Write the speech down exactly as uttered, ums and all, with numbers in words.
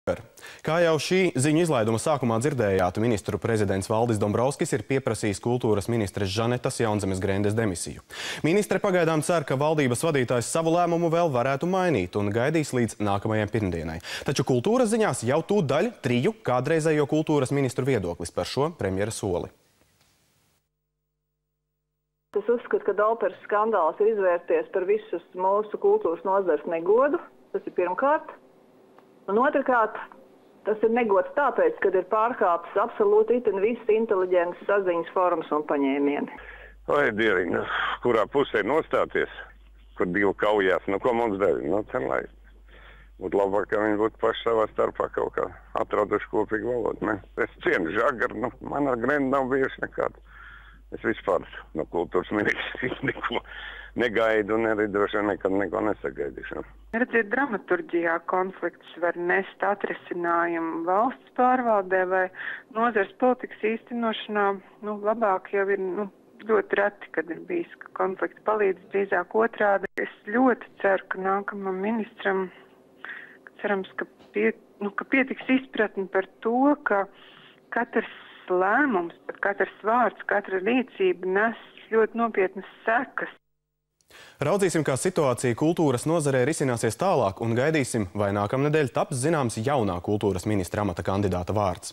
Kā jau šī ziņu izlaiduma sākumā dzirdējāt, ministru prezidents Valdis Dombrovskis ir pieprasījis kultūras ministres Žanetas Jaunzemes Grendes demisiju. Ministre pagaidām cer, ka valdības vadītājs savu lēmumu vēl varētu mainīt un gaidīs līdz nākamajai pirmdienai. Taču kultūras ziņās jau tūdaļ triju kādreizējo kultūras ministru viedoklis par šo premjera soli. Es uzskatu, ka Dauperes skandāls ir izvērties par visus mūsu kultūras nozares negodu. Tas ir pirmkārt. Un otrkārt, tas ir negods tāpēc, ka ir pārkāptas absolūti itin visas inteliģentas saziņas formas un paņēmieni. Vai, Dieriņ, kurā pusē nostāties, kur divi kaujās, nu ko mums dara? Nu, ten, lai būtu labāk, ka viņi būtu paši savā starpā kaut kā atraduši kopīgu valodu. Ne? Es cienu Žagaru, nu, man ar Grendu nav bijuši nekāda. Es vispār no kultūras ministrijas neko negaidu un arī droši vien nekad neko nesagaidīšu. Redziet, dramaturģijā konflikts var nest atrisinājumu valsts pārvaldē vai nozares politikas īstenošanā. Nu, labāk jau ir nu, ļoti reti, kad ir bijis, ka konflikts palīdz, drīzāk otrādi. Es ļoti ceru, ka nākamam ministram, cerams, ka, pie, nu, ka pietiks izpratni par to, ka katrs lēmums, katrs vārds, katra rīcība nes ļoti nopietnas sekas. Raudzīsim, kā situācija kultūras nozarē risināsies tālāk un gaidīsim, vai nākamnedēļ taps zināms jaunā kultūras ministra amata kandidāta vārds.